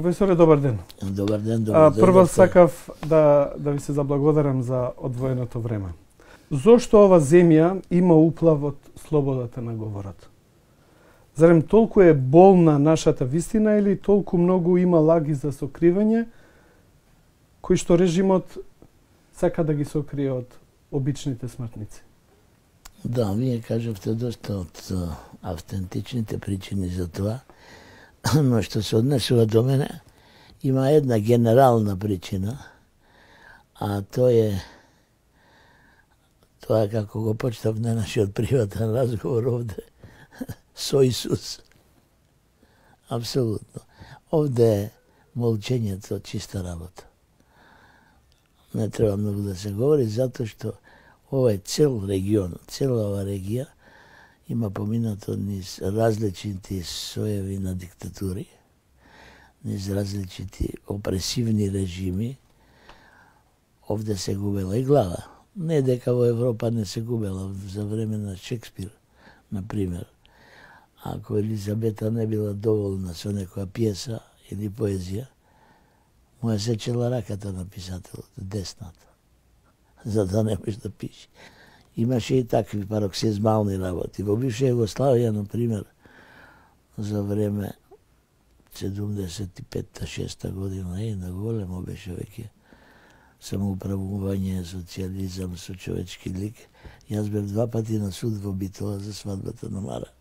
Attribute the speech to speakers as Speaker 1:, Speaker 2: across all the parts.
Speaker 1: Професоре, добар ден.
Speaker 2: Добар ден, добар ден.
Speaker 1: Прво сакав да ви се заблагодарам за одвоеното време. Зошто ова земја има уплав од слободата на говорот? Зарем толку е болна нашата вистина или толку многу има лаги за сокривање, кои што режимот сака да ги сокрие од обичните смртници?
Speaker 2: Да, вие кажавте доста од автентичните причини за тоа, но што се однесува до мене, има една генерална причина, а тоа како го почнав на нашиот приватен разговор овде со Исус. Апсолутно. Овде молчењето чиста работа. Не треба многу да се говори, затоа што овој цел регион, цела ова регија има поминато низ различити соеви на диктатури, низ различити опресивни режими. Овде се губела и глава. Не дека во Европа не се губела за време на Шекспир, например. Ако Елизабета не била доволна со некоја пиеса или поезија, му ја сечела раката на писателот, десната, за да не може да пише. Имаше и такви пароксизмални работи. Во бивша Југославија, например, за време 75-6 година, на големо беше веќе самоуправување, социализам со човечки лик. Јас бев 2 пати на суд во Битола за свадбата на Мара.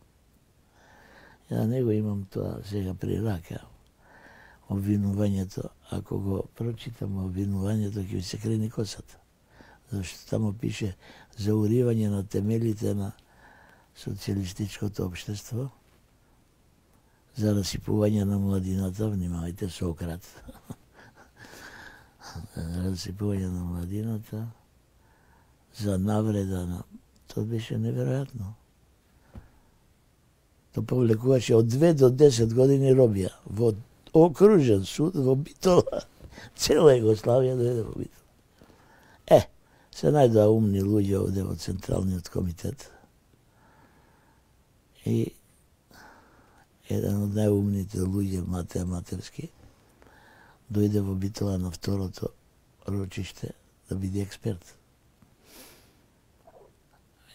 Speaker 2: Ја него имам тоа сега при рака. Обвинувањето, ако го прочитам обвинувањето, ќе ви се крени косата. Зашто тамо пише за уривање на темелите на социјалистичкото општество, за расипување на младината, внимавајте, Сократ, за расипување на младината, за навреда на... Тоа беше неверојатно. Тоа повлекуваше од 2 до 10 години робија во окружен суд во Битола. Цела Југославија дојде во Битола. Се најдоа умни луѓе овде во Централниот комитет. И еден од најумните луѓе, Матеј Матерски, дојде во Битола на второто рочиште да биде експерт.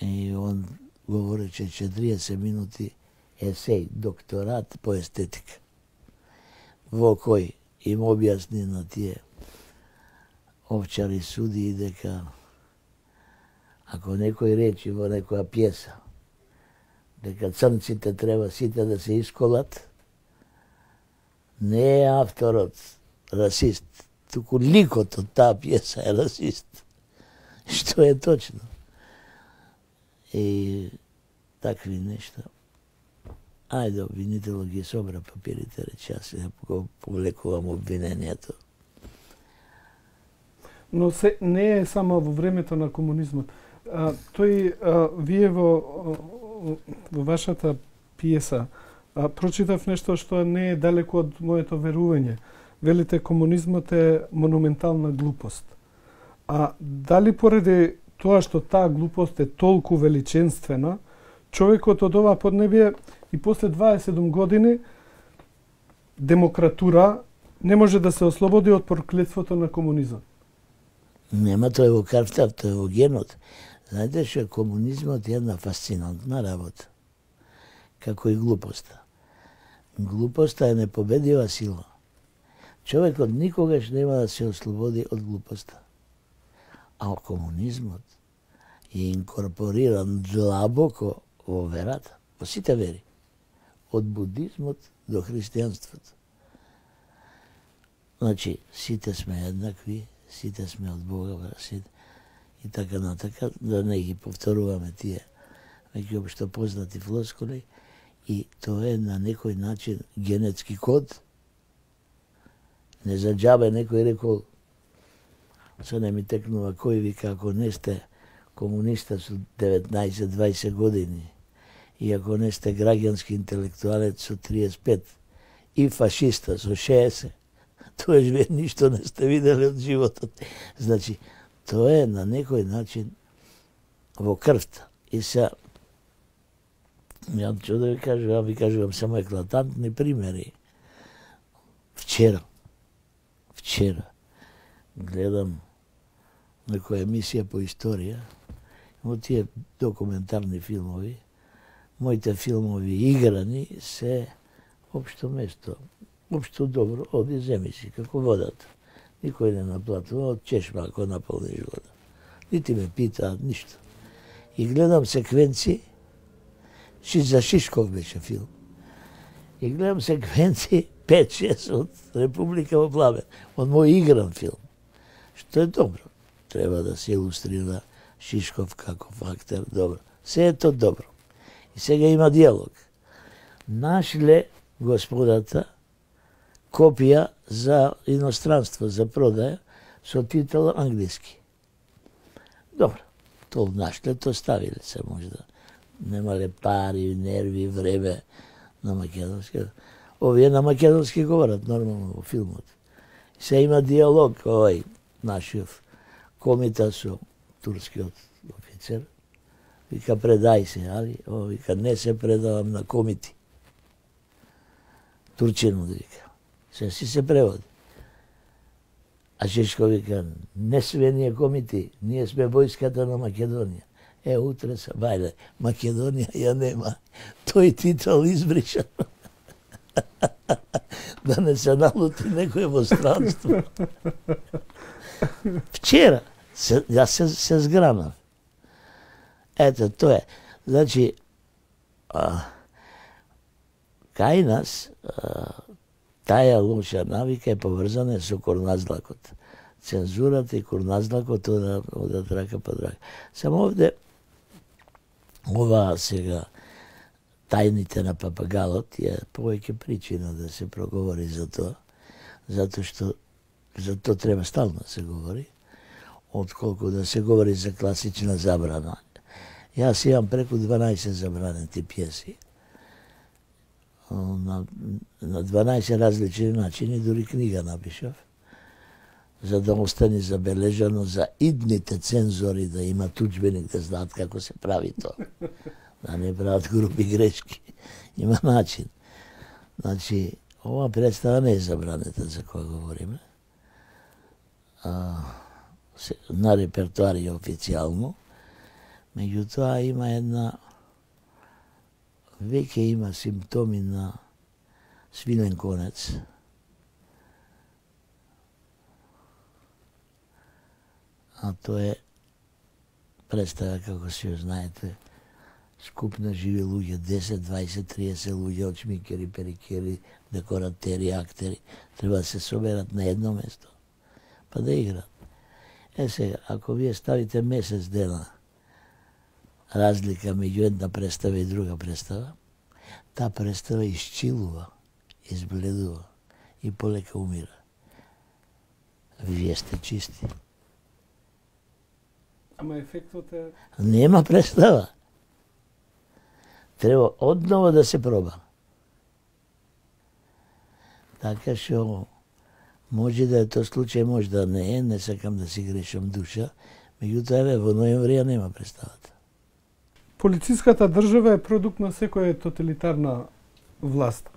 Speaker 2: И он говореше 40 минути есеј, докторат по естетика, во кој им објасни на тие овчари суди дека ако некој речи во некоја пиеса дека црнците треба сите да се исколат, не е авторот расист, туку ликот од таа пиеса е расист. Што е точно. И такви нешта. Ајде, обвинителот ги собра папирите, рече, јас го повлекувам обвинението.
Speaker 1: Но не е само во времето на комунизмот. Вие во вашата пиеса прочитав нешто што не е далеко од моето верување. Велите комунизмот е монументална глупост. А дали поради тоа што таа глупост е толку величенствена, човекот од ова поднебие и после 27 години демократура не може да се ослободи од проклетството на комунизмот?
Speaker 2: Нема, тоа е во крвта, тоа е во генот. Знаете што комунизмот е една фасцинантна работа, како и глупоста. Глупоста е непобедива сила. Човекот никогаш нема да се ослободи од глупоста. А комунизмот е инкорпориран длабоко во верата, во сите вери, од будизмот до христијанството. Значи, сите сме еднакви, сите сме од Бога, сите, и така натака, да не ги повторуваме тие веќе општо познати флоскули, и тоа е на некој начин генетски код. Не за џабе некој рекол, се не ми текнува кој, вика, ако не сте комуниста со 19-20 години и ако не сте граѓански интелектуалец со 35 и фашиста со 60, тоа вие ништо не сте видели од животот. Значи, тоа е на некој начин во крвта. И се, ја што да ви кажувам само еклатантни примери. Вчера гледам некоја емисија по историја, во тие документарни филмови, моите филмови играни се општо место, општо добро, оди земи си, како водата. Никој не наплатува, од чешма ако наполниш вода. Нити ме питаат ништо. И гледам секвенци, за Шишков беше филм. И гледам секвенци 5-6 од Република во пламен, од мој игран филм. Што е добро. Треба да се илустрира Шишков како фактор, добро. Се е то добро. И сега има диалог. Нашле господата копија за иностранство, за продаја, со титул англиски. Добро, то нашле, то ставиле се можда. Немале пари, нерви, време на македонски. Овие на македонски говорат нормално во филмот. Се има диалог, овој нашиот комита со турскиот офицер. Вика, предај се, али? Вика, не се предавам на комити. Турчинот вика. Се преводи. А Шишко вика, не све ние комити, ние сме војската на Македонија. Утре се, бајле, Македонија ја нема. Тој титул избриша. Да не се налути некој во странство. Вчера, јас се згранав. Ето, тоа е. Значи, кај нас, таја лоша навика е поврзана со корназлакот. Цензурата и корназлакот одат рака под рака. Само овде, ова сега, тајните на папагалот е повеќе причина да се проговори за тоа, затоа што за тоа треба стално да се говори, отколку да се говори за класична забрана. Јас имам преку 12 забранети пиеси, на 12 различни начини, дури книга напишав, за да остане забележано за идните цензори, да имат учбеник, да знаат како се прави тоа. Да не прават групи грешки. Има начин. Значи, ова представа не е забранета за која говориме. На репертуар е официјално. Меѓутоа има веќе има симптоми на свинен конец. А тоа е представа, како си ја знаете, скуп на живи луѓе, 10, 20, 30 луѓе, очмикери, перикери, декоратери, актери, треба да се соберат на едно место, па да играат. Сега, ако вие ставите месец дена разлика меѓу една представа и друга представа, таа представа исчилува, избледува и полека умира. Вие сте чисти.
Speaker 1: Ама ефектот е...
Speaker 2: Нема представа. Треба одново да се проба. Така што може да е тоа случај, може да не е, не сакам да си грешам душа, меѓутоа во ноември ја нема представата.
Speaker 1: Полициската држава е продукт на секоја тоталитарна власт.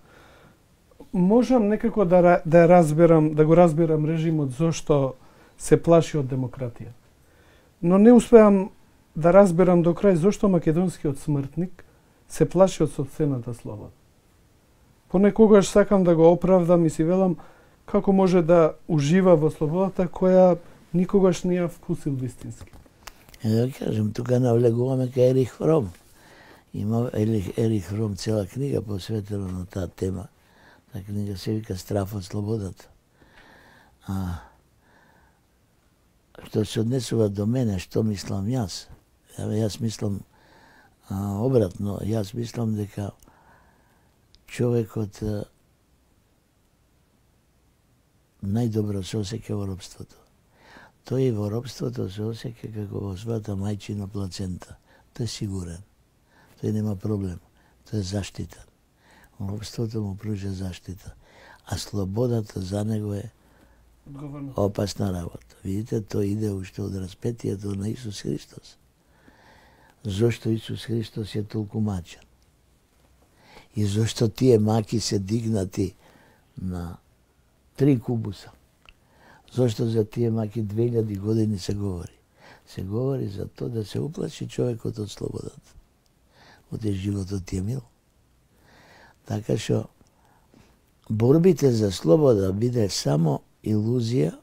Speaker 1: Можам некако да го разберам режимот зошто се плаши од демократија. Но не успеам да разберам до крај зошто македонскиот смртник се плаши од сопствената слобода. Понекогаш сакам да го оправдам и си велам како може да ужива во слободата која никогаш не ја вкусил вистински.
Speaker 2: Да кажем, тука навлегуваме кај Ерих Фром. Има Ерих Фром цела книга посветена на таа тема. Таа книга се вика Страф од слободата. Што се однесува до мене, што мислам јас? Јас мислам обратно. Јас мислам дека човекот најдобро се осеќа во робството. Тој во робството се осеќа како во својата мајчина плацента. Тој е сигурен. Тој нема проблем. Тој е заштитен. Робството му пружа заштита. А слободата за него е опасна работа. Видите, тој иде уште од распетието на Исус Христос. Зошто Исус Христос е толку мачен? И зошто тие маки се дигнати на 3 кубуса. Зошто за тие маки 2000 години се говори? Се говори за тоа да се уплаши човекот од слободата. Оде животот ти е мил. Така што борбите за слобода биде само илузија,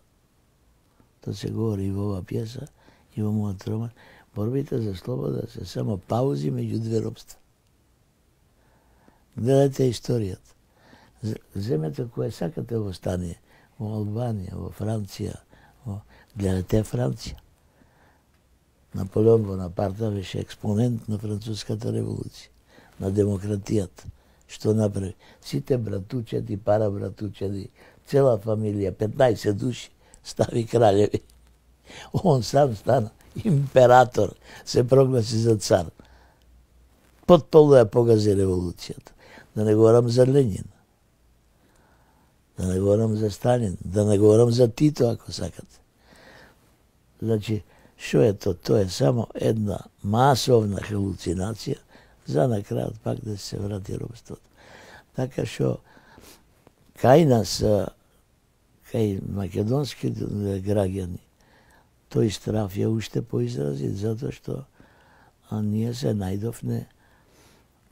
Speaker 2: тоа се говори и во оваа пјеса, и во мојот роман, борбите за слобода се само паузи меѓу две робства. Гледате историјата. Земете кое сакате во стание, во Албанија, во Франција, гледате Франција. Наполеон Бонапарта беше експонент на француската револуција, на демократијата. Што направи? Сите братучеди, парабратучеди, цела фамилија, 15 души, стави кралеви. Он сам стана император, се прогласи за цар. Потполно ја погази револуцијата. Да не говорам за Ленин, да не говорам за Сталин, да не говорам за Тито, ако сакате. Значи, што е тоа? Тоа е само една масовна халуцинација за на крајот пак да се врати робството. Така што кај нас, кај македонски граѓани, тој страф ја уште поизрази, затоа што ние се најдовне,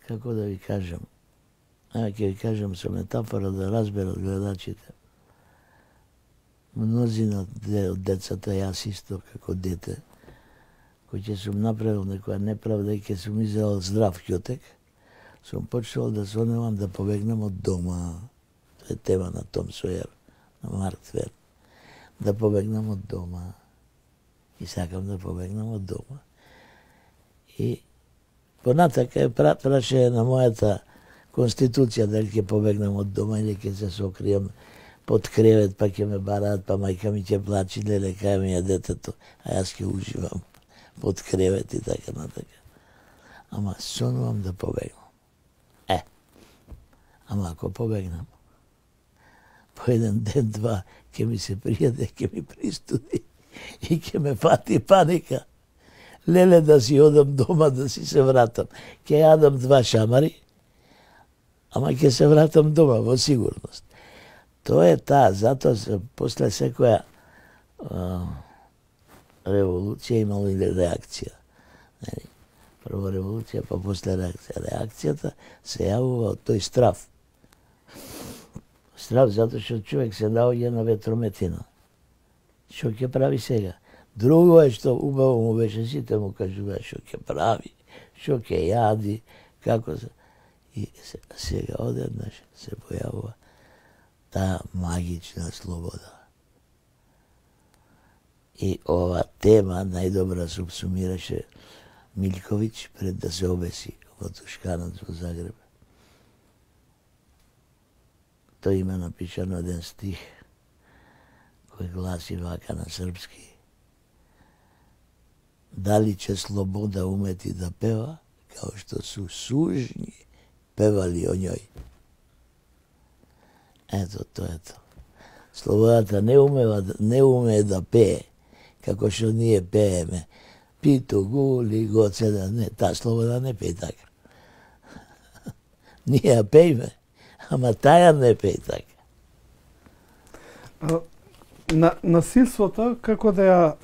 Speaker 2: како да ви кажам, ќе ви кажам со метафора да разберат гледачите. Мнозина од децата, јас исто како дете, кој ќе сум направил некоја неправда и ќе сум изелал здрав ќотек, сум почнал да соневам да побегнам од дома. Тоа е тема на Том Сојер, на Марк Твен. Да побегнам од дома. И сакам да побегнам од дома. И понатака е прашање на мојата конституција дали ќе побегнам од дома или ќе се сокријам под кревет, па ќе ме бараат, па мајка ми ќе плачи, леле, кај ми е детето, а јас ќе уживам под кревет и така натака. Ама сонувам да побегнам. Ама ако побегнам, по еден ден, два, ќе ми се пријаде, ќе ми пристуди и ќе ме фати паника. Леле, да си одам дома, да си се вратам. Ќе јадам 2 шамари, ама ќе се вратам дома, во сигурност. Тоа е таа, затоа после секоја револуција имало и реакција. Прво револуција, па после реакција. Реакцијата се јавува од тој страв. Страв затоа што човек се наоѓа на ветрометина. Што ќе прави сега? Друго е што убаво му беше, сите му кажува што ќе прави, што ќе јади, како се... И сега одеднаш се појавува таа магична слобода. И ова тема најдобра субсумираше Милковиќ пред да се обеси во Тушканаc во Загреб. Тој има напишано еден стих кој гласи вака на српски. Дали ќе слобода умети да пева, као што су сужњи певали о њој. Ето, тоа е тоа. Слободата не умее да пее, како што ние пееме. Пито, гули, гоцеда, не, таа слобода не пее така. Ние ја пееме, ама таја не пее така.
Speaker 1: Насилството, како да ја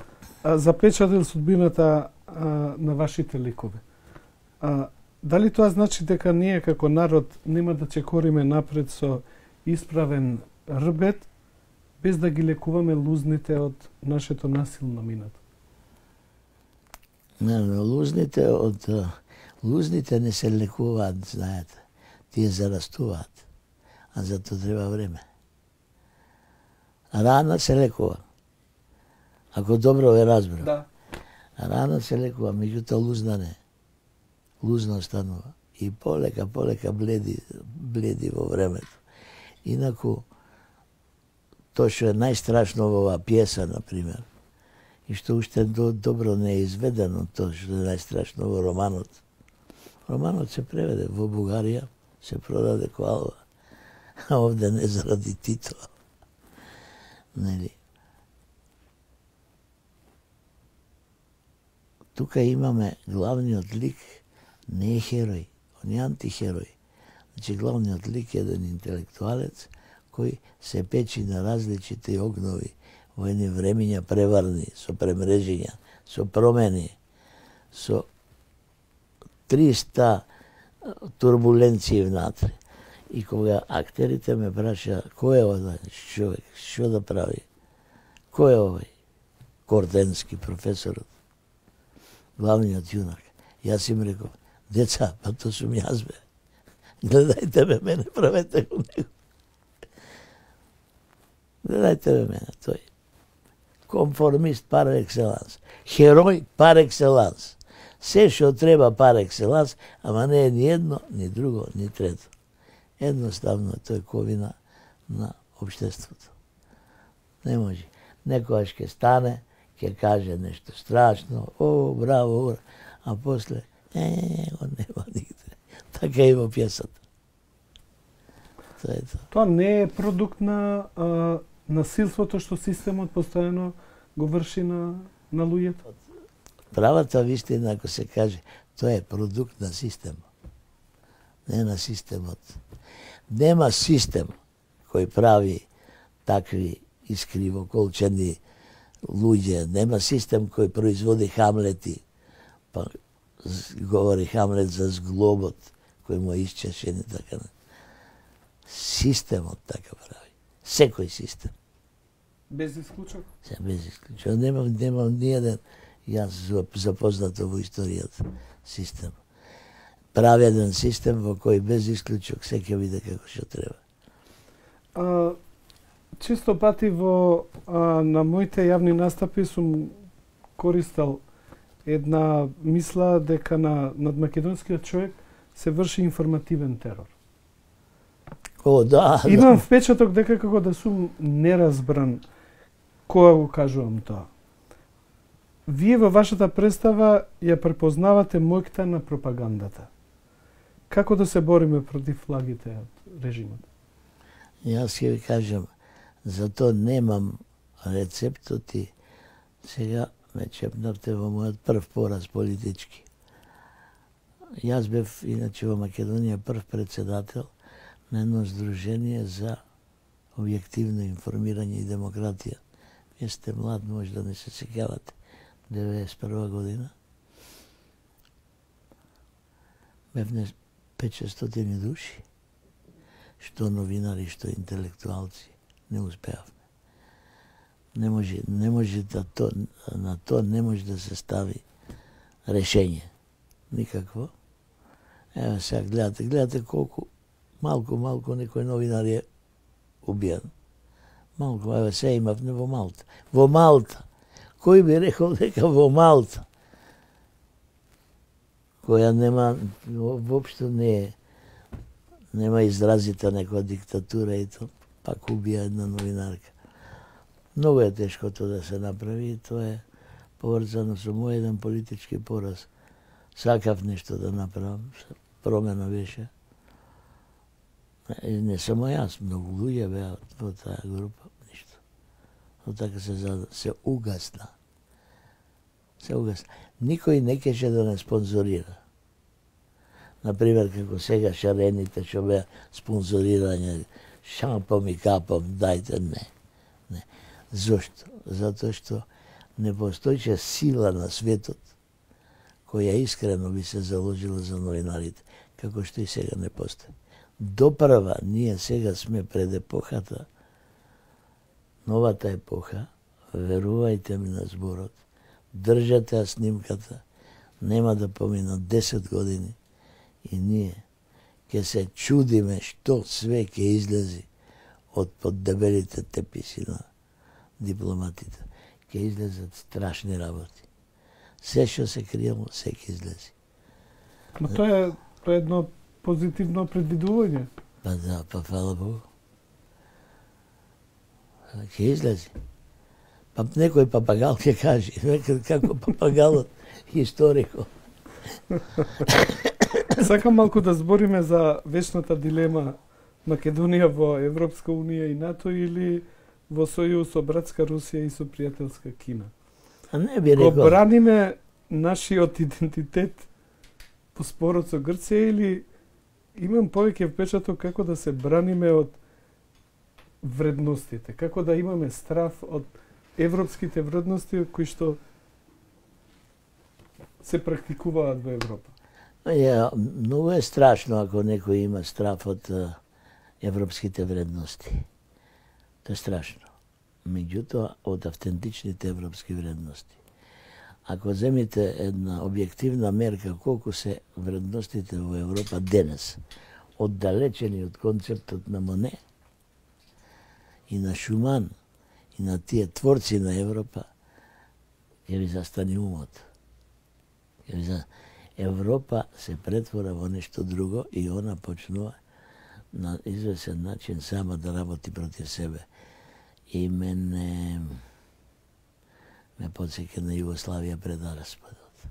Speaker 1: запечатил судбината на вашите ликови? Дали тоа значи дека ние како народ нема да чекориме напред со исправен рбет, без да ги лекуваме лузните од нашето насилно минато?
Speaker 2: Не, лузните не се лекуваат, знаете. Тие зарастуваат, а за тоа треба време. Рана се лекува. Ако добро ве разбрав.
Speaker 1: Да.
Speaker 2: Рана се лекува, меѓутоа лузна не. Лузна останува. И полека бледи во времето. Инаку, тоа што е најстрашно во оваа пјеса, например, и што уште добро не е изведено, тоа што е најстрашно во романот. Романот се преведе во Бугарија, се продаде ко алба, а овде не заради титла. Нели? Тука имаме главниот лик, не е херој, он е антихерој. Значи, главниот лик е еден интелектуалец, кој се печи на различити огнови во едни времења преварни, со премрежења, со промени, со 300 турбуленции внатре. И кога актерите ме праша кој е овој човек, што да прави, кој е овој Корденски, професорот, главниот јунак, јас им реков, деца, па то сум јас бе. Гледајте ме, мене правете го него. Гледајте ме мене, тој. Конформист пар екселанс. Херој пар екселанс. Се што треба пар екселанс, ама не е ни едно, ни друго, ни трето. Едноставно тој ковина на општеството. Не може. Некојаш ќе стане, ќе каже нешто страшно, о, браво, ура, а после, го нема нигде. Така и во пјесата. Тоа е тоа.
Speaker 1: Тоа не е продукт на насилството што системот постојано го врши на луѓето?
Speaker 2: Правата вистина, ако се каже, тоа е продукт на системот. Не на системот. Нема систем кој прави такви искривоколчени луѓе. Нема систем кој производи Хамлети. Па говори Хамлет за зглобот кој му е исчешен и така. Системот така прави. Секој систем.
Speaker 1: Без исклучок?
Speaker 2: Без исклучок. Немам ниједен јас запознато во историјата систем. Прави еден систем во кој без исклучок се ќе биде како што треба.
Speaker 1: Често пати на моите јавни настапи сум користел една мисла дека над македонскиот човек се врши информативен терор.
Speaker 2: О, да.
Speaker 1: Имам впечаток дека како да сум неразбран кога го кажувам тоа. Вие во вашата представа ја препознавате моќта на пропагандата. Како да се бориме против лагите од режимот?
Speaker 2: Јас ќе ви кажам, зато немам рецептот и сега ме чепнавте во мојот прв пораз политички. Јас бев, иначе во Македонија, прв председател на едно здружение за објективно информирање и демократија. Вие сте млад, може да не се сеќавате. 91 година. Бевне 500 души, што новинари, што интелектуалци. Не успеавме. Не може на тоа не може да се стави решење. Никакво. Ева сега гледате колку малку некој новинар е убиен. Малку, ева се имавме во Малта. Во Малта. Кој би рекол дека во Малта, која нема, воопшто нема изразита некоја диктатура и тоа, пак убија една новинарка. Многу е тешко тоа да се направи и тоа е поврзано со мој еден политички пораз. Сакав нешто да направам, промена беше. Не само јас, многу луѓе беа во таа група, ништо. Но така се угасна. Никој не кеше да не спонзорира. Например, како сега шарените што беа спонзорирање, шампом и капом, дајте, не. Зошто? Затоа што не постоише сила на светот која искрено би се заложила за новинарите, како што и сега не постои. Допрва, ние сега сме пред епохата, новата епоха, верувајте ми на зборот, држате ја снимката, нема да поминат 10 години и ние ќе се чудиме што све ќе излези од под дебелите теписи на дипломатите. Ќе излезат страшни работи. Се што се криело, се ќе излези.
Speaker 1: Но тоа е едно позитивно предвидување.
Speaker 2: Па да, па фала Богу. Ќе излези. Па некој папагал ќе каже, како папагалот историкот.
Speaker 1: Сакам малку да збориме за вечната дилема Македонија во Европска Унија и НАТО или во сојуз со братска Русија и со пријателска Кина.
Speaker 2: А не би рекол.
Speaker 1: Го браниме нашиот идентитет по спорот со Грција или имам повеќе впечаток како да се браниме од вредностите? Како да имаме страф од европските вредности кои што се практикуваат во Европа?
Speaker 2: Многу е страшно ако некој има страф од европските вредности. Тоа е страшно. Меѓутоа, од автентичните европски вредности. Ако земите една објективна мерка колку се вредностите во Европа денес, оддалечени од концептот на Моне и на Шуман и на тие творци на Европа, ќе ви застани умот. Европа се претвора во нешто друго и она почнува на извесен начин сама да работи против себе. И ме подсеќа на Југославија пред распадот.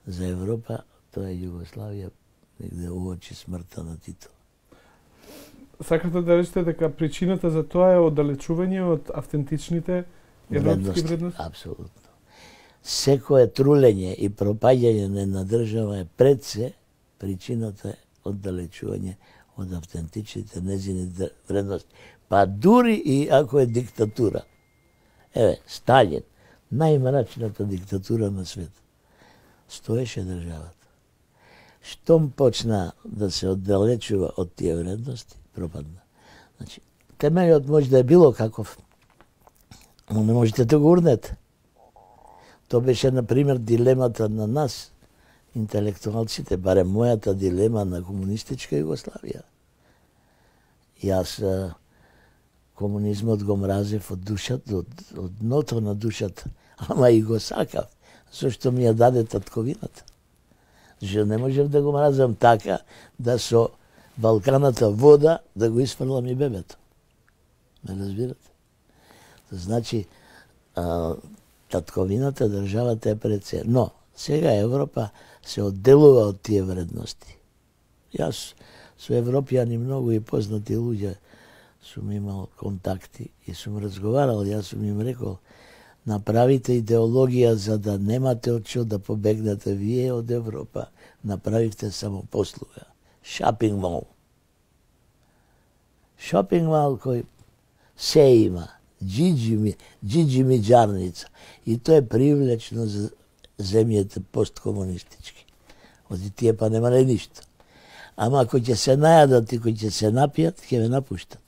Speaker 2: За Европа тоа е Југославија негде уочи смртта на Тито.
Speaker 1: Сакате да речете дека причината за тоа е оддалечување од автентичните европски вредности?
Speaker 2: Апсолутно. Секое трулење и пропаѓање на една држава е пред се причината е оддалечување од автентичните незини вредности. Па дури и ако е диктатура. Сталин, најмрачната диктатура на свет. Стоеше државата. Штом почна да се оддалечува од тие вредности, пропадна. Значи, темелот може да е било каков, но не можете да го урнете. Тоа беше, например, дилемата на нас, интелектуалците, барем мојата дилема на комунистичка Југославија. Јас комунизмот го мразев од душата, од дното на душата, ама и го сакав, зашто ми ја даде татковината. Зашто не можев да го мразам така, да со балканата вода да го испрлам и бебето. Ме разбирате? Значи, татковината, државата е пред се. Но, сега Европа се одделува од тие вредности. Јас со европјани многу и познати луѓе сум имал контакти и сум разговарал, јас сум им рекол, направите идеологија за да немате од што да побегнете вие од Европа, направивте само послуга. Шопинг мол. Шопинг мол кој се има. Джиджи миџарница. И тоа е привлечно за земјите посткомунистички. Оди тие па немале ништо. Ама ако ќе се најадат и кои ќе се напијат, ќе ве напуштат.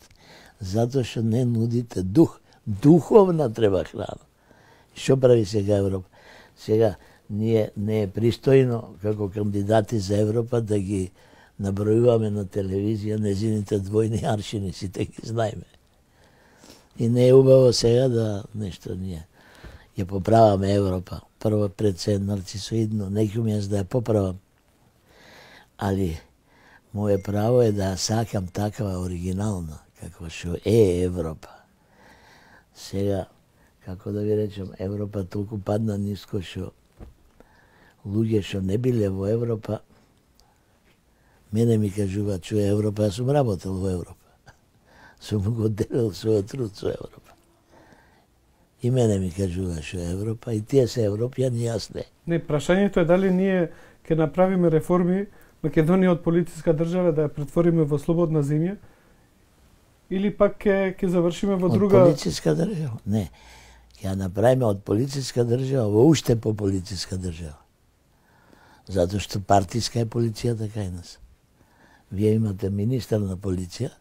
Speaker 2: Затоа што не нудите дух. Духовна треба храна. Што прави сега Европа? Сега не е пристојно како кандидати за Европа да ги набројуваме на телевизија незините двојни аршини, сите ги знаеме. И не е убаво сега да нешто ние ја поправаме Европа. Прво пред се нарцисоидно, некој јас да ја поправам. Али моје право е да ја сакам такава оригинална, како што е Европа. Сега, како да ви речем, Европа толку падна ниско што луѓе што не биле во Европа, мене ми кажуваат што е Европа, јас сум работел во Европа. Сум го делил својот труд со Европа. И мене ми кажува што е Европа, и тие се европјани, јас не.
Speaker 1: Не, прашањето е дали ние ќе направиме реформи, Македонија од политичка држава да ја претвориме во слободна земја, или пак ќе завршиме во друга...
Speaker 2: Од политичка држава? Не. Ќе ја направиме од политичка држава во уште по политичка држава. Затоа што партиска е полицијата кај нас. Вие имате министар на полиција,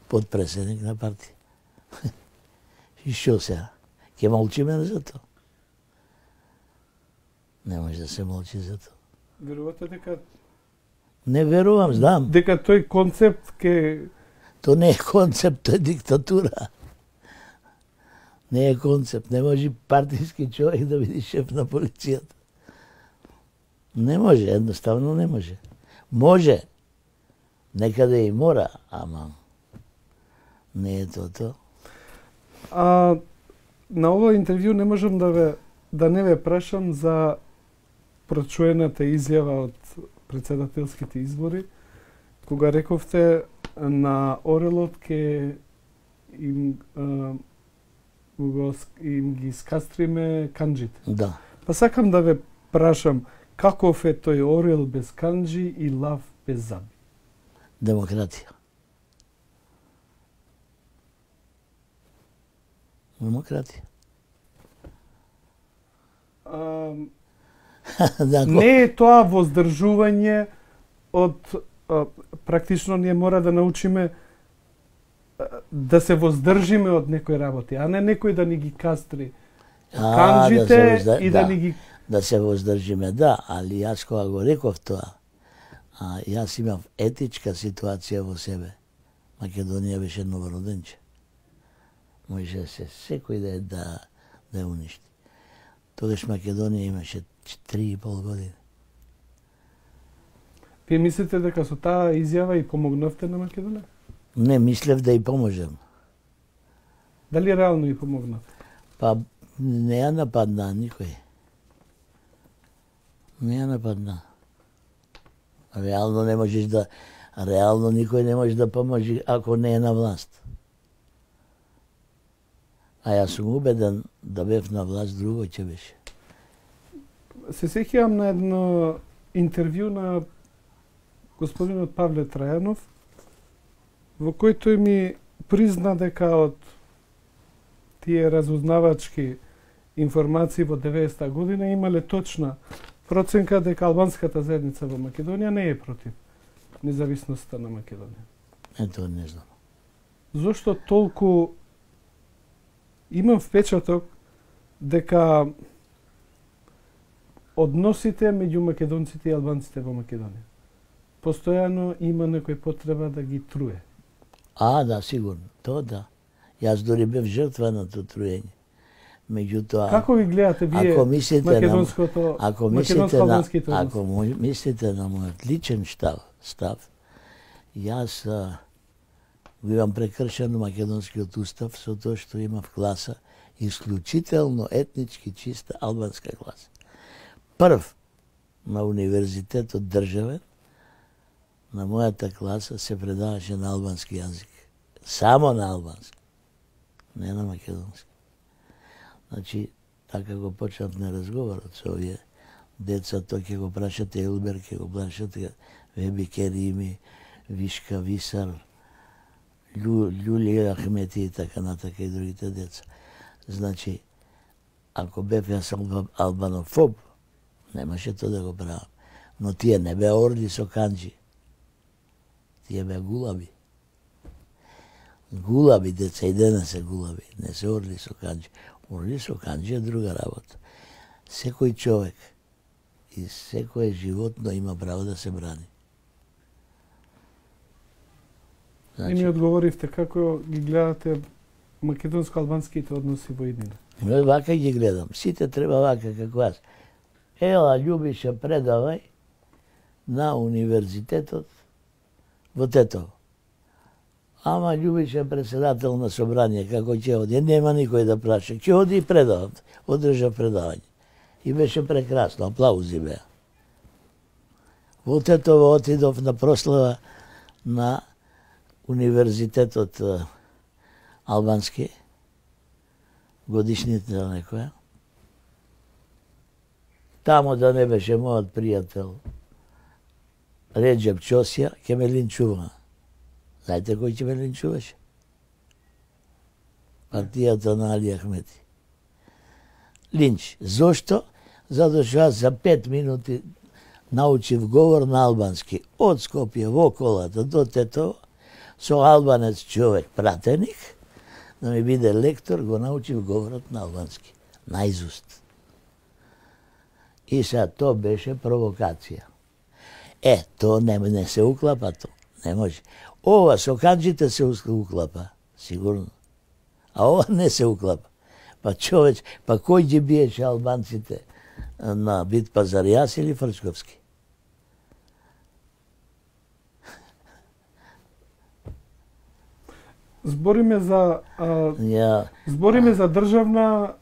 Speaker 2: подпредседник на партија. И што сега? Ќе молчиме за тоа? Не може да се молчи за тоа.
Speaker 1: Верувате дека...
Speaker 2: Не верувам, знам.
Speaker 1: Дека тој концепт ке...
Speaker 2: Тоа не е концепт, тоа е диктатура. Не е концепт. Не може партиски човек да биде шеф на полицијата. Не може, едноставно не може. Може. Некаде и мора, ама не е тоа.
Speaker 1: На ова интервју не можам да не ве прашам за прочуената изјава од председателските избори, кога рековте на Орелот ке им ги скастриме канџите.
Speaker 2: Да.
Speaker 1: Па сакам да ве прашам, каков е тој орел без канџи и лав без заби?
Speaker 2: Демократија. Демократи.
Speaker 1: Не е тоа воздржување од практично ние мора да научиме да се воздржиме од некои работи, а не некој да ни ги кастри канџите и да ни ги...
Speaker 2: Да се воздржиме, да, али јас кога го реков тоа, јас имав етичка ситуација во себе. Македонија беше новороденче. Може се секој да ја уништи. Тогаш Македонија имаше 3,5 години.
Speaker 1: Вие мислите дека со таа изјава и помогнавте на Македонија?
Speaker 2: Не, мислев да и поможем.
Speaker 1: Дали реално и помогнав?
Speaker 2: Па не ја нападна никој. Не ја нападна. Реално не можеш да... Реално никој не може да поможи ако не е на власт. А јас сум убеден да бев на власт, друго ќе беше.
Speaker 1: Се сеќавам на едно интервју на господинот Павле Трајанов, во кој тој ми призна дека од тие разузнавачки информации во 90-та година имале точна проценка дека албанската заедница во Македонија не е против независноста на Македонија.
Speaker 2: Ето, не знам.
Speaker 1: Зошто толку имам впечаток дека односите меѓу македонците и албанците во Македонија постојано има некој потреба да ги труе.
Speaker 2: Да, сигурно. Тоа да. Јас дори бев жртва на тоа труење. Меѓутоа,
Speaker 1: како ги гледате вие македонското, македонско-албанските односи?
Speaker 2: Ако мислите на мојот личен став, јас го имам прекршено македонскиот устав со тоа што имав класа исклучително етнички чиста албанска класа. Прв на универзитетот државен, на мојата класа се предаваше на албански јазик. Само на албански. Не на македонски. Значи, така го почнав на разговорот со овие деца, тоа ќе го прашате Елбер, ќе го прашате Веби Керими, Вишка Висар, Љулија Ахмети и така натака и другите деца. Значи, ако бев јас албанофоб, немаше тоа да го правам. Но тие не беа орли со канџи. Тие беа гулаби. Гулаби деца и денес се гулаби, не се орли со канџи. Орли со канџи е друга работа. Секој човек и секое животно има право да се брани.
Speaker 1: И ми одговоривте како ги гледате македонско-албанските односи во иднина.
Speaker 2: Вака ги гледам. Сите треба вака како јас. Ела, Љубиша, предавај на универзитетот во Тетово. Ама Љубиша председател на собрание, како ќе оди, нема никој да праша. Ќе оди и предава, одржа предавање. И беше прекрасно, аплаузи беа. Во Тетово отидов на прослава на универзитетот албански, годишница некоја. Тамо да не беше мојот пријател Реджеп Чосија, ќе ме линчува. Знаете кој ќе ме линчуваше? Партијата на Али Ахмети. Линч. Зошто? Затоа што јас за 5 минути научив говор на албански. Од Скопје во колата до Тетово, со албанец човек, пратеник, да ми биде лектор, го научив говорот на албански. Наизуст. И сега тоа беше провокација. Тоа не се уклапа тоа. Не може. Ова со канџите се уклапа, сигурно. А ова не се уклапа. Па човеч, па кој ги биеше албанците на Бит Пазар, јас или Фрчковски?
Speaker 1: Збориме за државна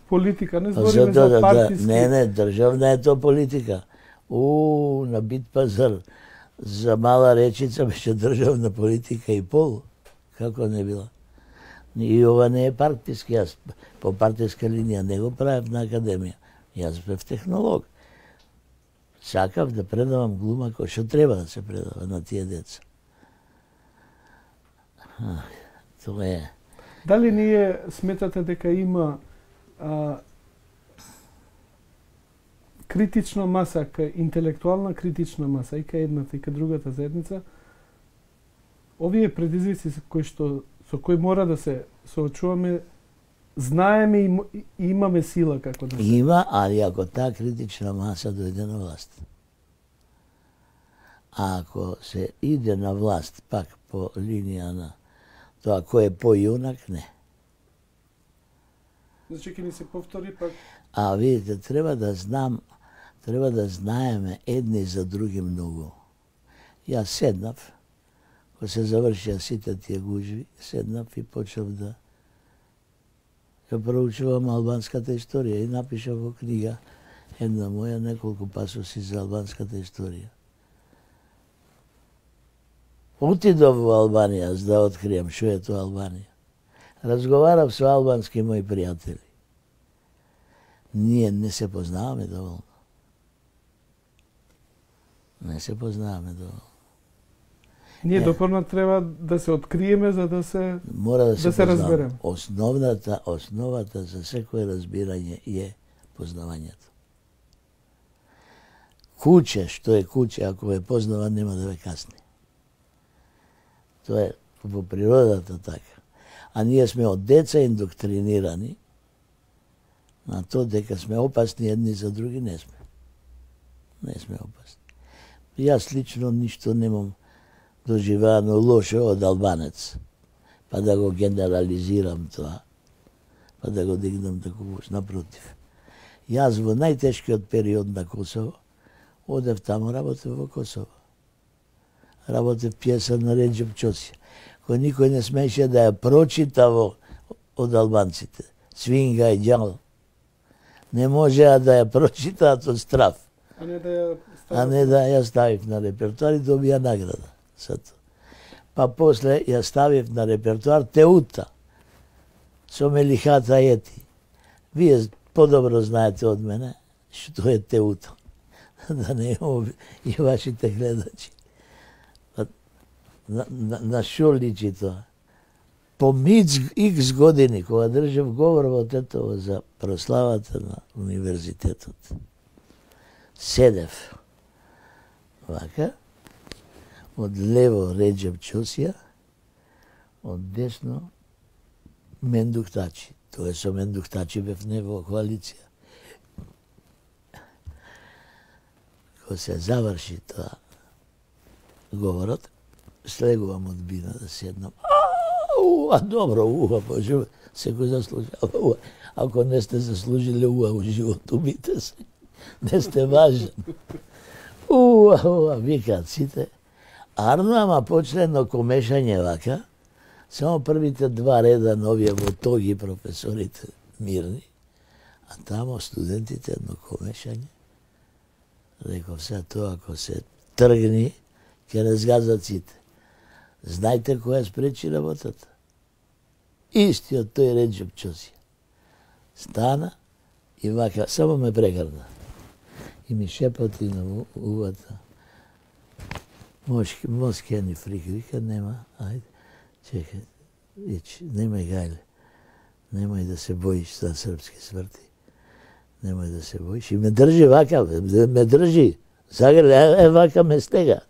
Speaker 1: политика, не збориме за партиски.
Speaker 2: Не, државна е тоа политика. На Бит Пазар за Мала Речица беше државна политика и пол. Како не била? И ова не е партиски, јас по партиска линија не го правев на академија. Јас бев технолог. Сакав да предавам глума кој што треба да се предава на тие деца. Тоа е.
Speaker 1: Дали ние сметате дека има критична маса, интелектуална критична маса и кај едната и кај другата заедница, овие предизвици со кои мора да се соочуваме, знаеме и имаме сила како да се...
Speaker 2: Има, али ако таа критична маса дојде на власт. А ако се иде на власт пак по линија на тоа кој е појунак, не.
Speaker 1: Значи ќе ни се повтори пак...
Speaker 2: А видите, треба да знаеме едни за други многу. Јас седнав, кога се завршија сите тие гужви, седнав и почнав да проучувам албанската историја и напишав во книга една моја неколку пасоси за албанската историја. Отидов во Албанија за да открием што е тоа Албанија. Разговарав со албански мои пријатели. Ние не се познаваме доволно. Не се познаваме доволно.
Speaker 1: Ние допорно треба да се откриеме за да се
Speaker 2: мора да се
Speaker 1: разбереме.
Speaker 2: Основата за секое разбирање е познавањето. Куќе, што е куќе, ако ве познава, нема да ве касни. Тоа е во природата така. А ние сме од деца индоктринирани на тоа дека сме опасни едни за други, не сме. Не сме опасни. Јас лично ништо немам доживеано лошо од албанец. Па да го генерализирам тоа. Па да го дигнам тако напротив. Јас во најтешкиот период на Косово одев таму, работев во Косово. Работев пиеса на Реџеп Чосија, кој никој не смеше да ја прочита од албанците. Свинга и ѓал. Не можеа да ја прочитаат од страв.
Speaker 1: А не
Speaker 2: да ја ставив на репертуар и добија награда. Па после ја ставив на репертуар Теута со Мелихата Ети. Вие подобро знаете од мене што е Теута. Да не и вашите гледачи. На шо личи тоа? По икс години, кога држав говор во Тетово за прославата на универзитетот, седев вака, од лево Реџеп Чосија, од десно Мендуктачи. Тоа со Мендуктачи бев не во коалиција. Кога се заврши тоа говорот, слегувам од бина да седнам. Добро, Боже, секој заслужава уа. Ако не сте заслужили уа во живот, убите се. Не сте важен. Викаат сите. Арно, ама почне едно комешање вака, само првите два реда на овие во тоги професорите мирни, а тамо студентите едно комешање. Реков се тоа, ако се тргни, ќе разгазат сите. Знаете која спречи работата? Истиот тој Реџеп Чосија. Стана и вака, само ме прегрна. И ми шепати на увата. Моски ни фрик, вика, нема, ајде, чекај, ич, немај гајле. Немај да се боиш за српски смрти. Немај да се боиш. И ме држи вака, ме држи. Загрли, вака ме стега.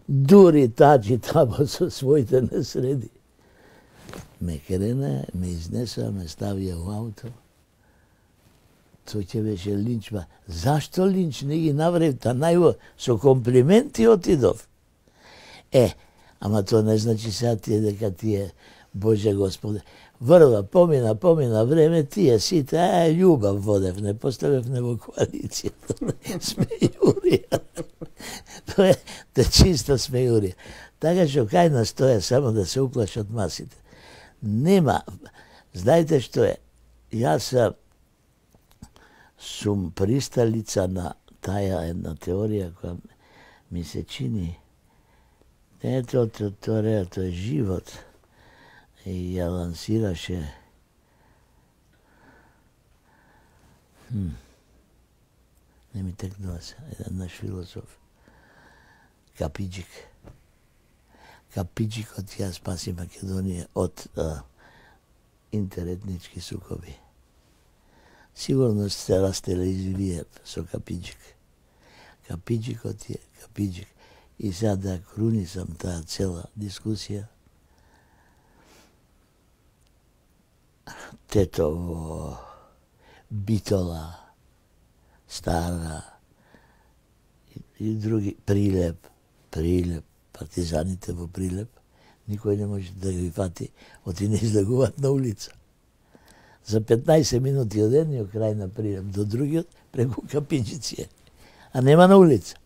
Speaker 2: Дури таджи тамо со своите не среди. Ме крена, ме изнеса, ме ставија во ауто. Тој ќе беше линч, ба. Зашто линч не ги наврев та најво со комплименти отидов? Ама тоа не значи сега тие дека тие, Боже Господе, врва, помина време, тие сите, љубав водев, не поставев не во коалицијата. Смејурија. Тоа е чиста смејурија. Така што кај нас тоа е само да се уплашат масите. Нема, знаете што е, јас сум присталица на таа една теорија која ми се чини, не е тоа теорија, тоа е живот. И ја лансираше не ми текнува се, еден наш философ, Капиџик. Капиџикот ја спаси Македонија од интеретнички сукоби. Сигурно сте растеле и вие со капиџик. Капиџикот е капиџик. И сега да крунисам таа цела дискусија, Тетово, Битола, Стара и други, Прилеп, партизаните во Прилеп, никој не може да ги фати, оти не излегуваат на улица. За 15 минути од едниот крај на Прилеп до другиот преку капиџици, а нема на улица.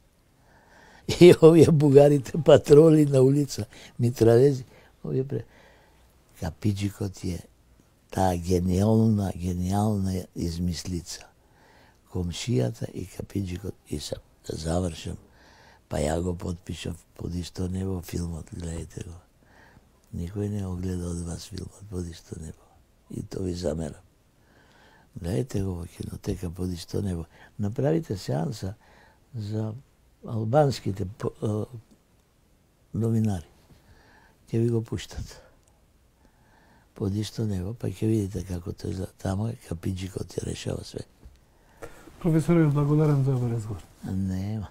Speaker 2: И овие бугарите патроли на улица, митравези, овие капиџикот е таа гениална измислица. Комшијата и капиџикот, и са да завршам, па ја го потпишав Под исто небо филмот, гледайте го. Никој не го гледа од вас филмот Под исто небо. И то ви замерам. Гледайте го во кинотека Под исто небо. Направите сеанса за албанските новинари. Ќе ви го пуштат. Под исто небо, па ќе видите како тој изгледа. Тамо е капиџикот ја решава све.
Speaker 1: Професоре, благодарам за овој разговор.
Speaker 2: Нема.